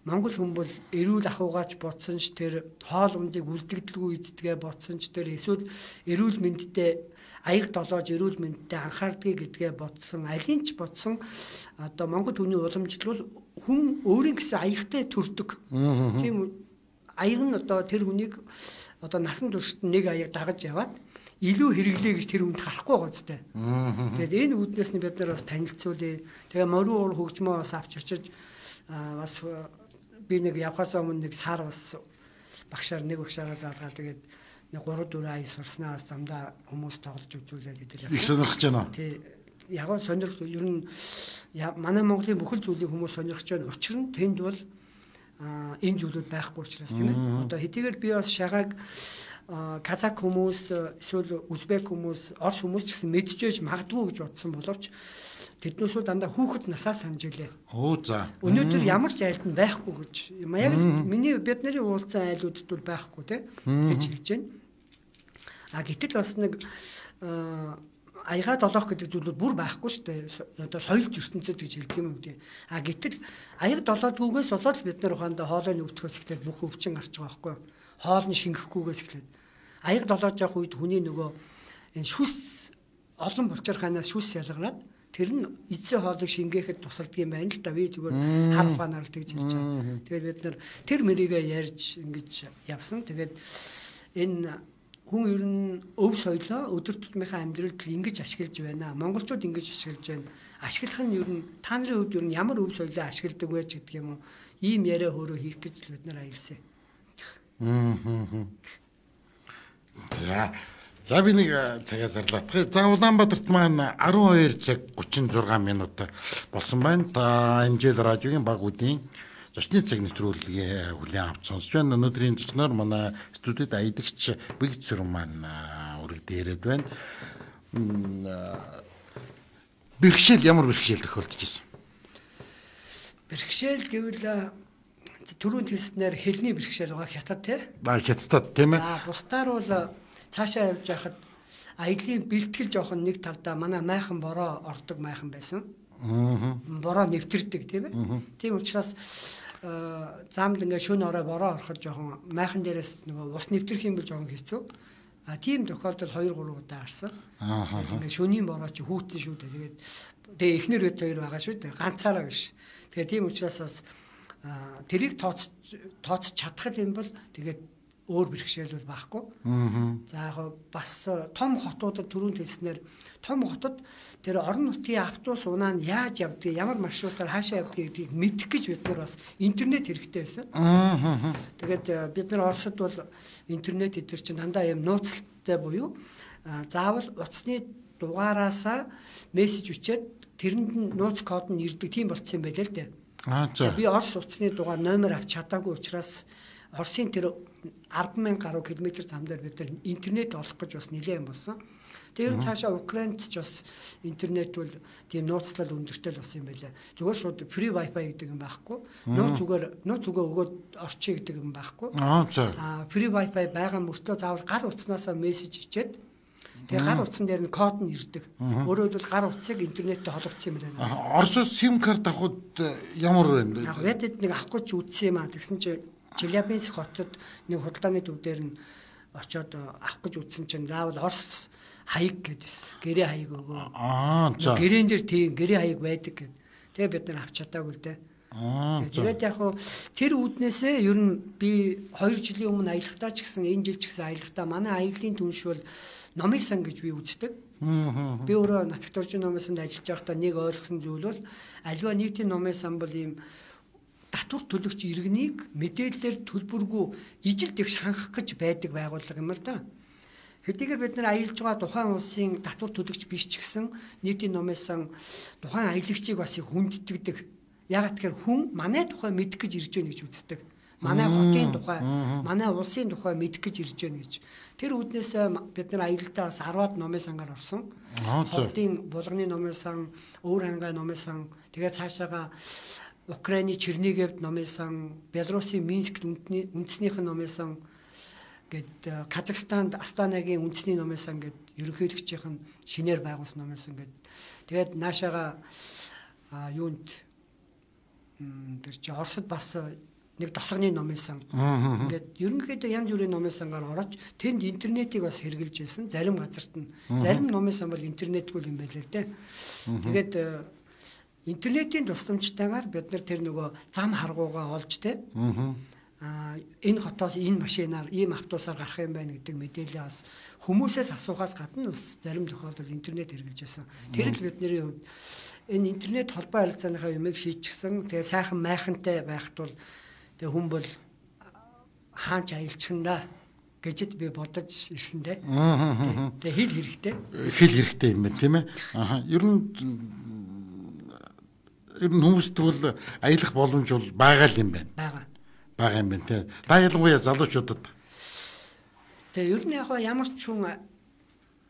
Монгол хүн бол эрүүл ахуйгаач бодсон ч тэр хоол ундыг үлдэгдэлгүй иддэгэ бодсон ч тэр эсвэл эрүүл мэндтэй аяг долоож эрүүл мэндтэй анхаардгийг гэдгээ бодсон алин ч бодсон одоо Монгол хүний уламжлал хүн өөрийн гэсэн аягтай төрдөг. Тийм аяг нь одоо тэр хүнийг одоо насан туршид нэг аяг дагаж яваад илүү хэрэглээ гэж тэр хүнд харахгүй байгаа зү. Тэгээд энэ үүднээс нь бид нар бас танилцуулъя. Тэгээ морин уур хөгжмөө бас авч очиж бас би нэг явхаас өмнө нэг сар бас багшаар нэг багшаараа заалгаа тэгээд нэг three four ай сурснаас замдаа хүмүүс тоглож үзүүлээд идэл. Их сонирхож байна. Тий. Яг нь сонирх ер нь манай Монголын бүхэл зүйлийг хүмүүс сонирхож байна. Учир нь тэнд бол энэ зүйлүүд байхгүй учраас тийм ээ. Одоо хэдийгээр би бас шагааг казак хүмүүс эсвэл узбек хүмүүс, орос хүмүүс ч гэсэн мэдчихэж магадгүй гэж бодсон боловч тэднүүсүүд дандаа хүүхэд насаа санаж илээ. Оо за. Өнөөдөр ямар ч айлд нь байхгүй гэж. Яг миний бидний уулзсан айлуудд бол байхгүй тийм гэж хэлж байна. А гэтэл бас нэг аяга долоох гэдэг зүйл бүр байхгүй шүү дээ. Одоо соёл ертөнцид гэж хэлдэг юм үү. А гэтэл аяга долоодгүйгээс болоод бид нар ухаандаа хоолой өвдөхөөс ихлээр бүх өвчин гарч байгаа байхгүй юу? Хоол нь шингэхгүйгээс ихлээр аяга долоож явах үед хүний нөгөө энэ шүс олон булчирхаанаас шүс ялгараад тэр нь эцсийн хоолыг шингээхэд тусалдаг юм байна л да. Би зүгээр хар ухаанаар л тэгж хэлж байгаа. Тэгээд бид нар тэр мэрийгээ ярьж ингэж явсан. Тэгээд энэ хүн ер нь өв соёлоо өдөр тутмынхаа амьдралд ингэж ашиглаж байна. Монголчууд ингэж ашиглаж байна. Ашиглах нь ер нь та нарын хувьд ер нь ямар өв соёлоо ашигладаг вэ гэдэг юм уу? Ийм яриа хөөрөө хийх гэж бид нар аялсан. За. За би нэг цагаас зарлаадах. За Улаанбаатарт маань арван хоёр цаг гучин зургаан минут болсон байна. Та Эмжэл радиогийн баг үдийн зочны цаг нэвтрүүлгээ хүлээн авч сонсож байна. Өнөөдрийн зочноор манай студид аядагч Бэгцэр маань үргэлж яриад байна. Бэрхшээл ямар бэрхшээл тохиолдож ирсэн? Бэрхшээл гэвэл түрүүн хэлснээр хэлний бэрхшээл байгаа хятад тий. Ба хятадд тийм ээ. Аа бусдаар бол цаашаа явж байхад аялын бэлтгэл жоохон нэг талдаа манай майхан бороо ордог майхан байсан. Аа. Бороо нэвтэрдэг тийм ээ. Тийм учраас замд ингээ шөнө орой бороо ороход жоохон майхан дээрээс нөгөө ус нэвтрэх юм бол жоохон хэцүү. А тийм тохиолдол хоёр гурав удаа гарсан. Аа. Ингээ шөнийн бороо чи хүүтэн шүү дээ. Тэгээд тэгээ эхнэр хэд хоёр байгаа шүү дээ. Ганцаараа биш. Тэгээ тийм учраас бас тэрийг тооц тооц чадах юм бол тэгээд өөр бэрхшээл бол байхгүй. За яг бас том хотуудад түрүүнд хэлснээр том хотод тэр орон нутгийн автобус унаа нь яаж явдгийг, ямар маршрутаар хаашаа явдгийг гэдгийг мэдэх гэж бид нар бас интернет хэрэгтэй байсан. Тэгээд бид нар Оросд бол интернет эдгээр чинь дандаа юм нууцтай буюу заавал утасны дугаараасаа мессеж өчөөд тэрэнд нууц код нь ирдэг тийм болцсон юм байлээ л дээ. Аа за. Би Орос утасны дугаар номер авч чадаагүй учраас Оросын тэр арван мянга гаруй километр зам дээр бид нар интернет олох гэж бас нэлээд юм болсон. Тэр цаашаа Украинд ч бас интернет бол тийм нууцлал өндөртэй л болсон юм байлаа. Зүгээр шууд free wifi гэдэг юм байхгүй. Нууц зүгээр нууц зүгээр өгөөд орчих гэдэг юм байхгүй. Аа за. Аа free wifi байгаа мөртөө заавал гар утаснаас мессеж ичээд тэгээ гар утсан дээр нь код нь ирдэг. Өөрөөр хэлбэл гар утсыг интернеттэй холбогдсон юм байна. Оросоос сим карт авахд ямар вэ? Яг вэдэд нэг авахгүй ч үтсэн юм аа. Тэгсэн чинь Челябинск хотод нэг худалдааны төв дээр нь очиод авах гэж үзсэн чинь заавал Орос хаяг гэдээс гэрээ хаяг өгөө. Аа за. Гэрээн дээр тийм гэрээ хаяг байдаг гэд. Тэгээ бид нар авч чадаагүй л дээ. Аа. Тэгээд яг хуу тэр үүднээсээ ер нь би хоёр жилийн өмнө аялахдаа ч гэсэн энэ жил ч гэсэн аялахдаа манай аяллаа түнш бол номын сан гэж би үздэг. Би өөрөө нацагт орчин номын санд ажиллаж байхдаа нэг ойлгосон зүйл бол аливаа нийтийн номын сан бол ийм татвар төлөгч иргэнийг мэдээлэлээр төлбөргүй ижил тэгш хангах гэж байдаг байгууллага юм л да. Хэдийгээр бид нар аялж байгаа тухайн улсын татвар төлөгч биш ч гэсэн нийтийн номын сан тухайн аялагчийг бас их хүндэтгдэг. Ягаад гэхээр хүн манай тухай мэдэх гэж ирж байна гэж үздэг. Манай хотын тухай, манай улсын тухай мэдэх гэж ирж байна гэж. Тэр үднээс бид нар аялалтаа бас арваад номын сангаар орсон. Хотын булганы номын сан, өвөр хангай номын сан, тэгээ цаашаага Украины Черниговд номын сан, Белорусын Минскт үндэснийх нь номын сан гэд Казахстанд Астанагийн үндэсний номын сан гэд ерөнхийлөгчийн шинээр байгуулсан номын сан гэд тэгээд наашаага юунд тэр чи Оросд бас нэг тосгоны номын сан ингээд ерөнхийдөө янз бүрийн номын сангаар орож тэнд интернетийг бас хэрэгжилж байсан зарим газарт нь зарим номын сан бол интернетгүй юм байлаа л дээ. Тэгээд интернетийн тусламжтайгаар бид нар тэр нөгөө зам харгуугаа олж тэ аа энэ хотоос энэ машинаар ийм автобусаар гарах юм байна гэдэг мэдээлэл бас хүмүүсээс асуухаас гадна бас зарим тохиолдолд интернет хэрэгжилж байсан. Тэр л бидний хувьд энэ интернет холбоо харилцааныхаа юмыг шийдчихсэн. Тэгээ сайхан майхантай байхад бол тэгээ хүн бол хаач аялчихна гэжэд би бодож ирсэн дээ. Тэгээ хэл хэрэгтэй. Хэл хэрэгтэй юм байна тийм ээ. Аа ер нь ер нь хүмүүст бол аялах боломж бол байгаа л юм байна. Бага. байгаа юм байна те. Та ялангуяа залуучуудад Тэгээ ер нь яг ямар ч хүн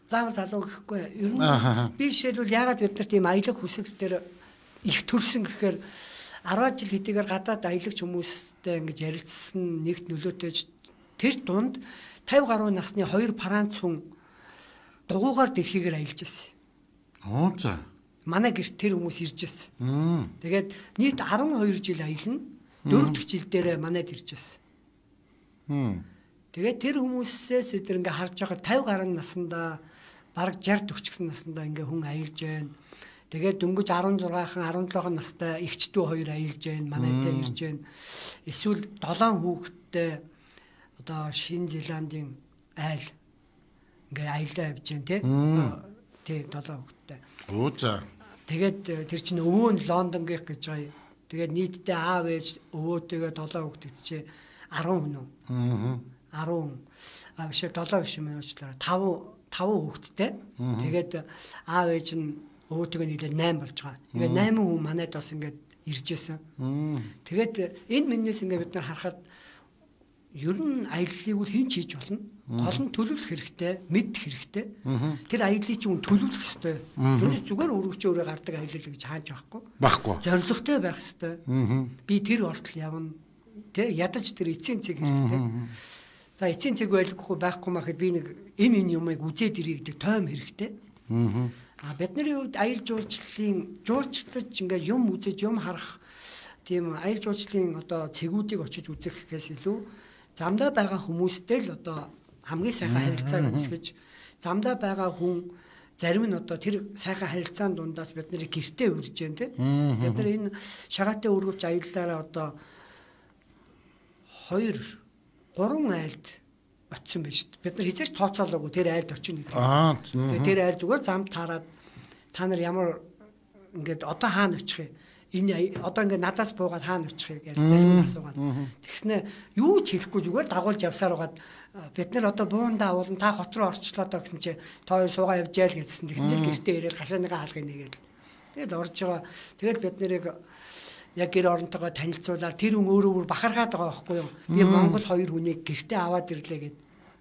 заавал залуу гэхгүй. Ер нь би жишээлбэл ягаад бид нар тийм аялах хүсэл дээр их төрсөн гэхээр арван жил хэдийгээр гадаад аялагч хүмүүстэй ингэж ярилцсан нэгт нөлөөтэйж тэр дунд тавь гаруй насны хоёр Франц хүн дугуйгаар дэлхийгээр аялж ирсэн. Оо за. Манай гэрт тэр хүмүүс ирж ирсэн. Тэгээд нийт арван хоёр жил аялна. дөрөв дэх жил дээр манайд ирж ирсэн. Тэгээд тэр хүмүүсээс тэр ингээ харж байгаа тавь гаруй наснда бараг шийдэлт өчгсөн наснда ингээ хүн аялж байна. Тэгээд дөнгөж арван зургаахан арван долоо настай эгчдүү хоёр аялж байна. Манайтай ирж байна. Эсвэл долоон хүүхэдтэй одоо Шинэ Зеландын айл ингээ аялдаа явж байна тий. Тий долоон хүүхэдтэй. Оо за. Тэгээд тэр чинь өвөө нь Лондон гэх гэж байгаа. Тэгээд нийтдээ аав ээж өвөөтэйгээ долоон хүүхэд чи арван хүн үү? Аа. арван а биш долоо биш юм уучлаарай. таван таван хүүхэдтэй. Тэгээд аав ээж нь өвөөтэйгээ нийлээ найм болж байгаа. Тэгээд найм хүн манайд бас ингээд ирж исэн. Тэгээд энэ миннээс ингээд бид нар харахад ер нь аяллыг бол хэн ч хийж болно. Гол нь төлөвлөх хэрэгтэй, мэдэх хэрэгтэй. Тэр аяллыг чинь төлөвлөх хэрэгтэй. Тэрс зүгээр өргөчөө өрөө гардаг аялал гэж хааж байхгүй. Байхгүй. Зоригтой байх хэрэгтэй. Би тэр ордол явна. Тэ ядаж тэр эцсийн цэг хэрэгтэй. За эцсийн цэг байлгүй байхгүй махад би нэг энэ энэ юмыг үзээд ирээ гэдэг тойм хэрэгтэй. А бидний хувьд аял жуулчлалын жуулчлаж ингээ юм үзэж юм харах тийм аял жуулчлалын одоо цэгүүдийг очиж үзэх гэхээс илүү замдаа байгаа хүмүүстэй л одоо хамгийн сайхан харилцааг үүсгэж замдаа байгаа хүн зарим нь одоо тэр сайхан харилцаан дундаас бид нарыг гэртээ үрж जैन тий. Бид нар энэ шагаатай өргөвч аяллаараа одоо хоёр гурван айлд очсон байж шүү дээ. Бид нар хизээч тооцоолоогүй тэр айлд очино гэдэг. Аа. Тэр айл зүгээр замд таарад та нар ямар ингээд одоо хаана очих юм? Энэ одоо ингээд надаас буугаад хаана очих юм гэж зарим асуугаад. Тэгснэ юу ч хэлэхгүй зүгээр дагуулж явсаар байгаад бид нар одоо буунда уулан та хот руу орчлоо доо гэсэн чи та хоёр суугаа явж яал гэсэн. Тэгсэн чинь гэртээ ирээд гашааныгаа хаалгыг нэгээл. Тэгэл орж байгаа. Тэгэл бид нарыг яг гэр оронтойгоо танилцуулаад тэр хүн өөрөө бүр бахархаад байгаа байхгүй юу? Би Монгол хоёр хүнийг гэртээ аваад ирлээ гэд.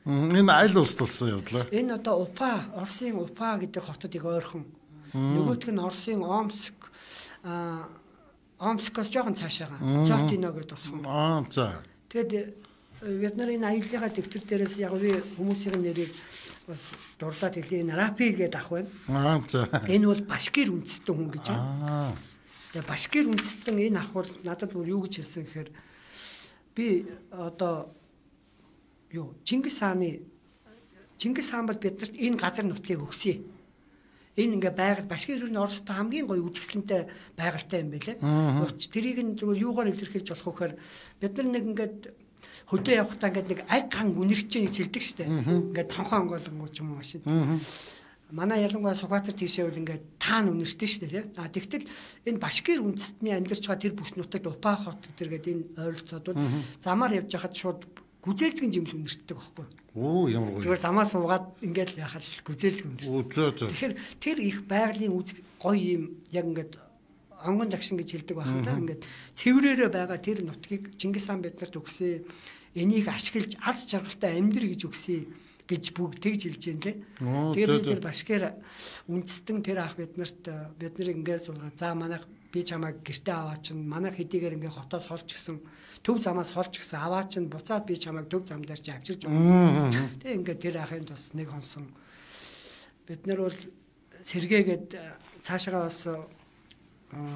Энэ айл улс толсон явдлаа. Энэ одоо Уфа, Оросын Уфа гэдэг хотод их ойрхон. Нөгөөх нь Оросын Омск а Омскоос жоохон цаашаага. Зотино гэдэг тусган. Аа за. Тэгэд бид нарын аяллаа дэвтэр дээрээс яг би хүмүүсийн нэрийг бас дурдаад хэлээ. Рапи гэдэг ах байна. Аа за. Энэ бол башкир үндэстэн хүн гэж байна. Аа. Тэгээ башкир үндэстэн энэ ах бол надад бүр юу гэж хэлсэн гэхээр би одоо юу Чингис хааны Чингис хаан бол биднэрт энэ газар нутгийг өгсөн. Энэ ингээ байгаль башкир юу н Оростой хамгийн гоё үзэсгэлэнтэй байгальтай юм байлээ. Тэрийг нь зүгээр юугаар илэрхийлж болох вэхээр бид нар нэг ингээд хөдөө явахдаа ингээд нэг аг хан үнэрч гэж хэлдэг штэ. Ингээд цонхон онгоолгоо ч юм уу машин. Манай ялангуяа Сугатар тийшээ бол ингээд таан үнэрчтэй штэ тий. А тэгтэл энэ башкир үндэстний амьдарч байгаа тэр бүс нутагт Упа хот гэдэргээд энэ ойролцоодууд замаар явж хахад шууд гүзээлзгэн жимс үнэрчдэг байхгүй. Оо ямар гоё. Зүгээр замаас суугаад ингээд яхад гүзээлзгэн үнэрчдэг. Оо зөө зөө. Тэгэхээр тэр их байгалийн үз гоё юм яг ингээд онгон дагшин гэж хэлдэг байна да. Ингээд цэврээрээ байгаа тэр нутгийг Чингис хаан биднэрт өгсөн. Энийг ашиглаж аз жаргалтай амьдр гэж өгсөн гэж бүгд тэгж хэлж байна лээ. Тэгээд тэр башкир үндэстэн тэр ах биднэрт бид нар ингээд суулгаа. За манайх би чамайг гэртээ аваа чинь манайх хэдийгээр ингээд хотоос холч гисэн төв замаас холч гисэн аваа чинь буцаад би чамайг төв зам дээр чи авчирч өгнө. Тэгээд ингээд тэр ахын тус нэг хонсон бид нар бол сэргээгээд цаашаа бас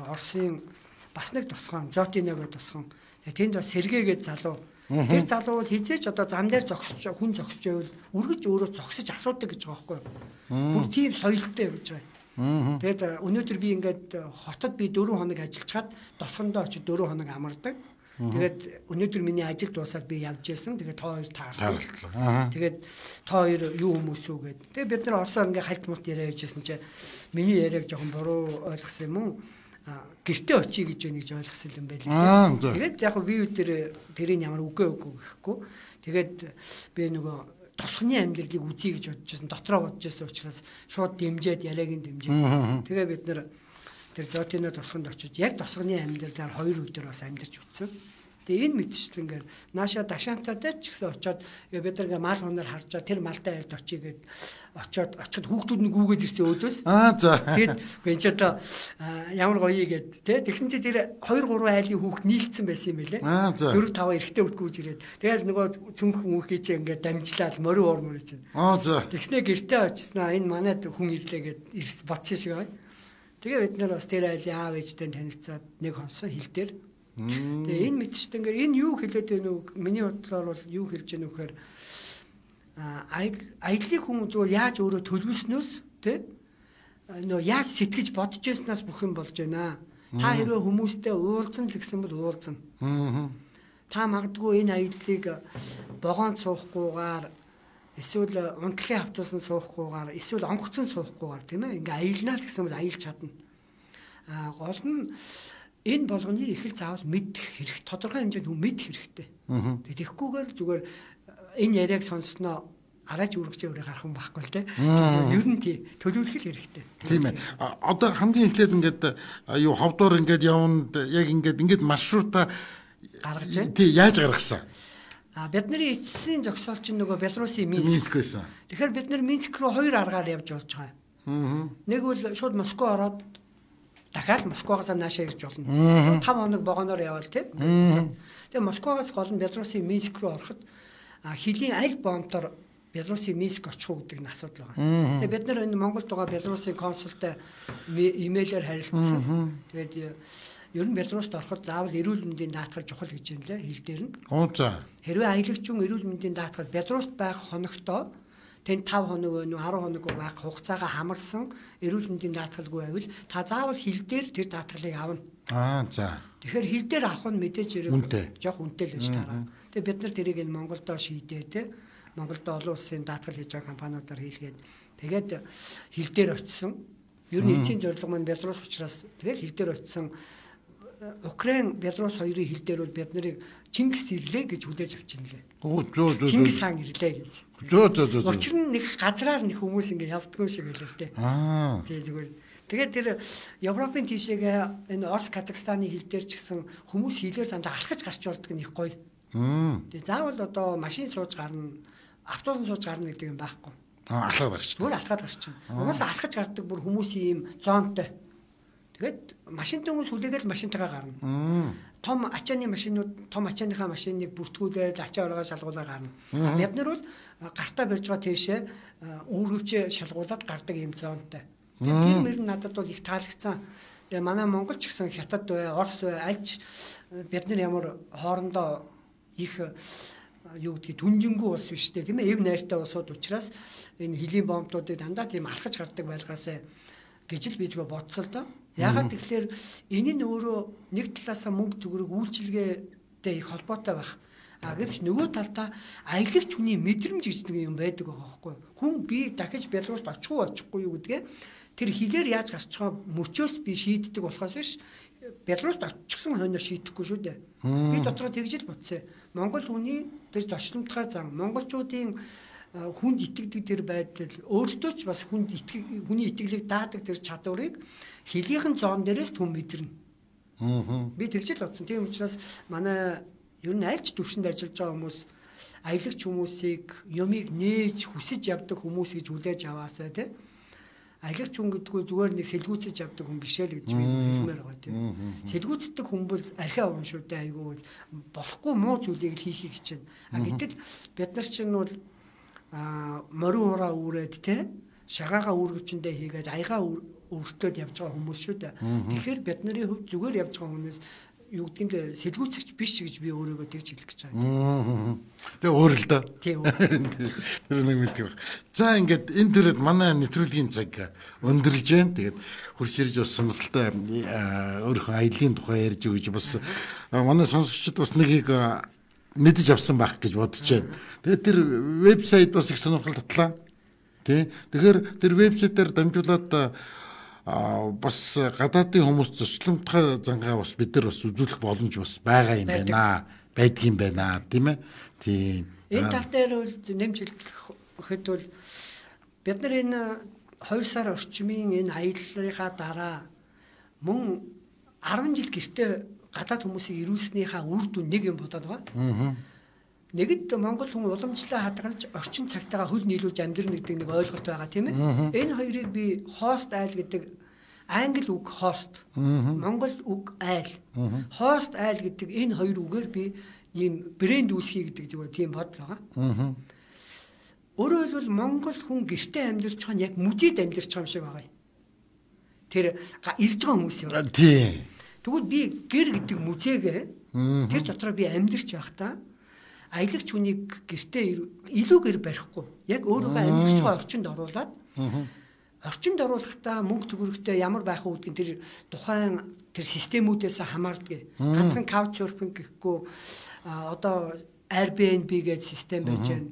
Оросын бас нэг тусгаан Зотино гэдэг тусгаан. Тэгээд тэнд бас сэргээгээд залуу. Тэр залуу бол хизээч одоо зам дээр зогсож хүн зогсож байвал үргэж өөрөө зогсож асуудаг гэж байгаа байхгүй юу? Бүр тийм соёлтой гэж байгаа. Тэгээд өнөөдөр би ингээд хотод би дөрвөн хоног ажиллаж чад тосгондоо очиж дөрвөн хоног амардаг. Тэгээд өнөөдөр миний ажил дуусаад би явж ирсэн. Тэгээд тоо хоёр таарсан. Тэгээд тоо хоёр юу хүмүүс үү гэд. Тэгээд бид нар орсоор ингээд хальт мулт яриа хийжсэн чинь миний яриаг жоохон буруу ойлгосон юм уу? Гэртээ очие гэж байна гэж ойлгосон юм байл. Тэгээд яг би юу тэр тэрийг ямар үгүй үгүй гэхгүй. Тэгээд би нөгөө тосхны амьдралыг үзье гэж бодож байсан. Дотроо бодож байсан учраас шууд дэмжиад яриаг нь дэмжиж. Тэгээд бид нар тэр Зотино тосгонд очиж яг тосгоны амьдралаар хоёр өдөр бас амьдарч үтсэн. Тэгээ энэ мэдчилгээр нааша дашаантайтай ч гэсэн очоод бид нар ингээ мал хунаар харж байгаа тэр малтай айлд очие гээд очоод очоод хүүхдүүд нь гүүгээд ирсэн өөдөөс. Аа за. Тэгээд энэ ч одоо ямар гоё гээд тий тэгсэн чи тэр two three айлын хүүхд нийлцсэн байсан юм байлээ. four five эрэгтэй үтгүүж ирээд. Тэгээд нөгөө цүнхэн хүүхий чи ингээ дамжлаад морин уур мөрөө чинь. Аа за. Тэгснэ гэртээ очсноо энэ манайд хүн ирлээ гээд ирс бодсон шиг байна. Тэгээ бид нар бас тэр айлын аав ээжтэй танилцаад нэг хонсон хил дээр. Тэгээ энэ мэдчихдээ ингээ энэ юу хэлээд байна вэ? Миний бодлоор бол юу хэлж байна вэ гэхээр аяллыг хүн зүгээр яаж өөрөө төлөвлөснөөс тий нөө яаж сэтгэж бодож байснаас бүх юм болж байна. Та хэрвээ хүмүүстэй уулзсан л гэсэн бол уулзна. Та магадгүй энэ аяллыг богоонд суухгүйгээр эсвэл унтлагын автобусан суухгүйгээр эсвэл онгоцон суухгүйгээр тийм ээ ингээ аялнаа л гэсэн бол аялж чадна. А гол нь энэ болгоныг их л заавал мэдэх хэрэг тодорхой хэмжээнд хүн мэдэх хэрэгтэй. Тэгэхгүйгээр зүгээр энэ яриаг сонссноо арайч үргэжээ өрөө гарах юм байхгүй л те. Ер нь тий төлөвлөх хэрэгтэй. Тийм ээ. Одоо хамгийн эхлээд ингээд юу ховдоор ингээд явна яг ингээд ингээд маршрута гаргаж байна. Тий яаж гаргасан? А бидний эцсийн зогсоол чинь нөгөө Белорусын Минск. Минск байсан. Тэгэхээр бид нар Минск руу хоёр аргаар явж болж байгаа юм. Нэг бол шууд Москва ороод дахиад Москвагаас наашаа ирж болно. five хоног богоноор явал тийм. Тэгээ Москвагаас гол нь Белорусын Минск руу ороход хилийн аль бомбтоор Белорусын Минск очих уу гэдэг нь асуудал байгаа. Тэгээ бид нар энэ Монголд байгаа Белорусын консултай имэйлээр харилцсан. Тэгээд ер нь Белоруст ороход заавал эрүүл мэндийн даатгал чухал гэж юм лээ хил дээр нь. Оо за. Хэрвээ аялагч хүн эрүүл мэндийн даатгал Белоруст байх хоногтоо тэнд five хоног нөө ten хоног байх хугацаагаа хамарсан эрүүл мэндийн даатгалгүй байвал та заавал хил дээр тэр даатгалыг авна. Аа за. Тэгэхээр хил дээр авах нь мэдээж хэрэг жоох үнэтэй л байж таараа. Тэгээ бид нар тэрийг энэ Монголдо шийдээ те. Монголд олон улсын даатгал хийж байгаа компаниудаар хийлгээд тэгээд хил дээр очисон. Ер нь эцсийн зорилго маань Белорус учраас тэгээд хил дээр очисон Украин, Белорус хоёрын хил дээр бол бид нарыг Чингис ирлээ гэж хүлээж авчихна лээ. Оо зөө зөө. Чингис хаан ирлээ гэж. Зөө зөө зөө. Учир нь нэг газраар нэг хүмүүс ингэ явдггүй шиг байлаа те. Аа. Тэгээ зүгээр. Тэгээд тэр Европын тийшээгээ энэ Орос, Казахстаны хил дээр ч гэсэн хүмүүс хилээр дандаа алхаж гарч болдог нь их гоё. Тэгээ заавал одоо машин сууж гарна, автобус сууж гарна гэдэг юм байхгүй. Аа алхаад гарч. Зүгээр алхаад гарч байна. Угаасаа алхаж гардаг бүр хүмүүсийн ийм зоонтой. Тэгээд машинтай хүмүүс хүлээгээл машинтайгаа гарна. Том ачааны машинууд, том ачааныхаа машиныг бүртгүүлээд ачаа оргоо шалгуулаад гарна. Бид нар бол гартаа барьж байгаа тийшээ үүргэвч шалгуулад гардаг юм зоонтой. Тийм мөр надад бол их таалагдсан. Тэгээ манай Монгол ч гэсэн Хятад бай, Орос бай, альч бид нар ямар хоорондоо их юу гэдгийг түнжингүү ус биш тийм ээ. Эв найртай усууд учраас энэ хилийн бомбуудыг дандаа тийм алхаж гардаг байлгаасаа гэж л би зүгээр бодсоо л доо. Ягаад тэгэхээр энэ нь өөрөө нэг талаасаа мөнгө төгрөг үйлчилгээтэй их холбоотой байх. А гэвч нөгөө талдаа аялагч хүний мэдрэмж гэж нэг юм байдаг байгаа байхгүй. Хүн би дахиж Белоруст очих уу очихгүй юу гэдгээ тэр хилээр яаж гарч байгаа мөчөөс би шийддэг болохоос биш Белоруст очихсан хойноор шийдэхгүй шүү дээ. Би дотроо тэгж л бодсон. Монгол хүний тэр зочномтгой зан монголчуудын хүнд итгэдэг тэр байдал өөртөө ч бас хүнд итгэх хүний итгэлийг даадаг тэр чадварыг хилийнхэн зоон дээрээс түн мэдэрнэ. Аа. Би тэгж л бодсон. Тийм учраас манай ер нь альч төвшөнд ажиллаж байгаа хүмүүс аялагч хүмүүсийг юмыг нээж хүсэж явдаг хүмүүс гэж хүлээж аваасаа тий. Аялагч хүн гэдгүү зүгээр нэг сэлгүүцэж явдаг хүн биш л гэж би хэлмээр байгаа тийм. Сэлгүүцдэг хүн бол архиа уун шүү дээ айгүй болохгүй муу зүйлийг л хийхийг хичээнэ. А гэтэл бид нар чинь бол а морин ураа үүрээд те шагаагаа үүргэвчэндээ хийгээд аягаа өртөөд явж байгаа хүмүүс шүү дээ. Тэгэхээр бид нарын хувьд зүгээр явж байгаа хүмүүс юу гэдгиймдээ сэлгүүцэгч биш гэж би өөрийгөө тэгж хэлэх гэж байгаа. Тэгээ өөр л доо. Тийм. Тэр нэг мэддэг баг. За ингээд энэ төрөд манай нэвтрүүлгийн цаг өндөрлж байна. Тэгээд хурц ирж бас сонирхолтой өөрийнхөө аяллаа тухай ярьж өгч бас манай сонсогчид бас нэгийг мэдэж авсан байх гэж бодож байна. Тэгээд тэр вебсайт бас их сонирхол татлаа. Тэ. Тэгэхээр тэр вебсайтаар дамжуулаад а бас гадаадын хүмүүс зочломтгой зангаа бас бид нар бас үзүүлэх боломж бас байгаа юм байна. Байдаг юм байна, тийм ээ. Тийм. Энэ тал дээр бол нэмж хэлэхэд бол бид нар энэ хоёр сар орчмын энэ аяллаарынхаа дараа мөн ten жил гэртээ гадаад хүмүүсийг ирүүлснийхаа үр дүн нэг юм бодоод байгаа. Аа. Нэгд Монгол хүн уламжлалаа хадгалж орчин цагтаагаа хөл нийлүүлж амьдрна гэдэг нэг ойлголт байгаа тийм ээ. Энэ хоёрыг би хост айл гэдэг англи үг хост, монгол үг айл. Хост айл гэдэг энэ хоёр үгээр би ийм брэнд үүсгий гэдэг зүгээр тийм бодол байгаа. Аа. Өөрөөр хэлбэл монгол хүн гэртээ амьдарч байгаа нь яг музейд амьдарч байгаа юм шиг байгаа юм. Тэр ирж байгаа хүмүүс юм. Тийм. Тэгвэл би гэр гэдэг музейгээ тэр дотроо би амьдарч байхдаа аялагч хүнийг гэртээ илүү гэр барихгүй. Яг өөрийнхөө амьдарч байгаа орчинд оруулаад орчинд оруулахдаа мөнгө төгрөгтэй ямар байх вэ гэдгийг тэр тухайн тэр системүүдээс хамаардаг. Ганцхан couchsurfing гэхгүй одоо Airbnb гэдэг систем байж байна.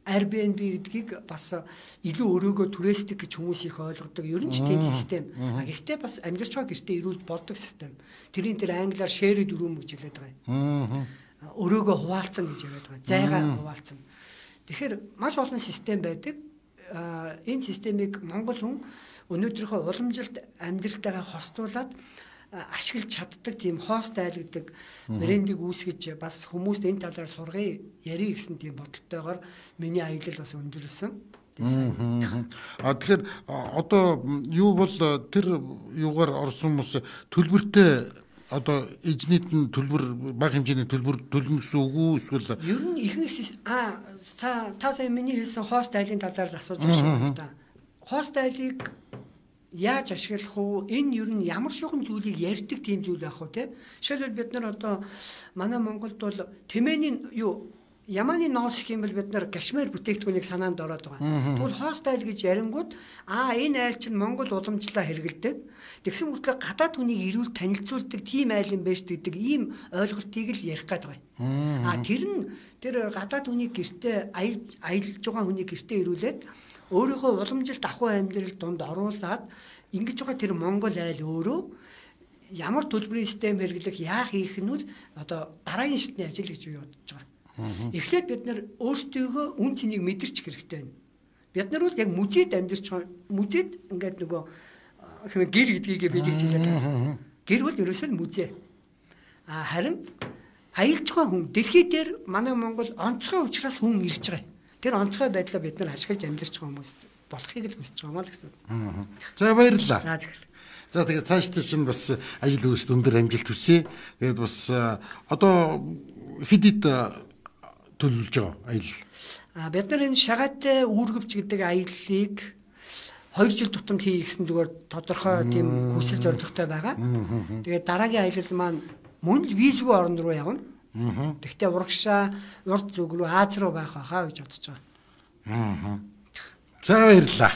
Airbnb гэдгийг бас илүү өрөөгөө туристик гэж хүмүүс их ойлгодог. Ер нь ч тийм систем. Гэхдээ бас амьдарч байгаа гэртээ ирүүл болдог систем. Тэрийн тэр англиар shared room гэж хэлээд байгаа юм. Өрөөгөө хуваалцсан гэж яриад байгаа. Зайгаа хуваалцсан. Тэгэхээр маш олон систем байдаг. Энэ системийг монгол хүн өнөөдрийнхөө уламжилт амьдралтайгаа хостуулаад ашиглаж чаддаг тийм хост айл гэдэг брендийг үүсгэж бас хүмүүст энэ талаар сургая ярих гэсэн тийм бодолтойгоор миний аялал бас өндөрлсөн. А тэгэхээр одоо юу бол тэр юугаар орсон хүмүүс төлбөртэй одоо эзнийд нь төлбөр бага хэмжээний төлбөр төлнө гэсэн үг үү эсвэл ер нь ихэнх а та та сая миний хэлсэн хост айлын талаар асууж байна шүү дээ. Хост айлыг яаж ашиглах вэ? Энэ ер нь ямар шугам зүйлийг ярьдаг тийм зүйл байх вэ те? Жишээлбэл бид нар одоо манай Монголд бол тэмээний юу Яманы ноос гэх юм бол бид нар кашмир бүтээгдэхүүнийг санаанд ороод байгаа. Тэгвэл хост айл гэж ярингууд аа энэ айл чинь Монгол уламжлалаа хэрэгэлдэг. Тэгсэн мөртлөө гадаад хүнийг ирүүл танилцуулдаг тийм айл юм байж гэдэг ийм ойлголтыг л ярих гээд байгаа. Аа тэр нь тэр гадаад хүнийг гэртээ аялж байгаа хүнийг гэртээ ирүүлээд өөрийнхөө уламжилт ахуй амьдрал донд оруулаад ингэж байгаа тэр Монгол айл өөрөө ямар төлбөрийн систем хэрэглэх яах хийх нь бол одоо дараагийн шатны ажил гэж би бодож байгаа. Эхлээд бид нар өөрсдөө үн цэнийг мэдэрч хэрэгтэй байна. Бид нар бол яг музейд амьдарч байгаа. Музейд ингээд нөгөө гэр гэдгийг бид хэлж байгаа. Гэр бол ерөөсөө музей. А харин аялж байгаа хүн дэлхий дээр манай Монгол онцгой учраас хүн ирж байгаа. Тэр онцгой байдлаа бид нар ашиглаж амьдарч байгаа хүмүүс болохыг л хүсэж байгаа маа л гэсэн. За баярлалаа. За зөв. За тэгээд цаашдаа чинь бас ажил үйлс өндөр амжилт хүсье. Тэгээд бас одоо хэд хэд төлөвлөж байгаа аялал. А бид нар энэ шагаатай үүргэвч гэдэг аяллыг хоёр жил тутамд хийх гэсэн зүгээр тодорхой тийм хүсэл зорилготой байгаа. Тэгээд дараагийн аялал маань мөн л визгүй орн руу явна. Тэгвэл урагшаа урд зүг рүү Аз руу байх байхаа гэж бодож байгаа. За баярлалаа.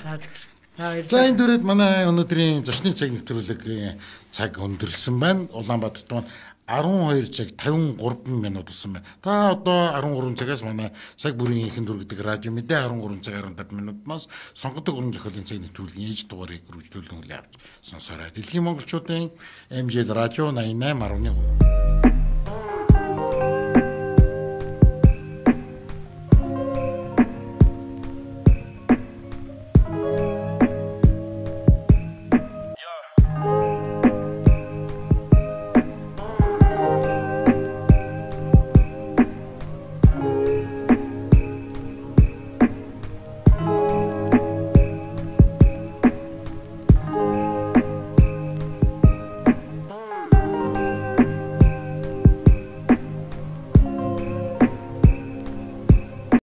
За За энэ дүрээд манай өнөөдрийн зочны цаг нэвтрүүлгийн цаг өндөрлсөн байна. Улаанбаатарт маань арван хоёр цаг тавин гурван минут болсон байна. Та одоо арван гурван цагаас манай цаг бүрийн ихэнх дүр гэдэг радио мэдээ арван гурван цаг арван таван минутаас сонгодог уран зохиолын цаг нэвтрүүлгийн ээж дугаарыг үргэлжлүүлэн хүлээн авч сонсоорой. Дэлхийн монголчуудын эм жи радио восемь восемь один три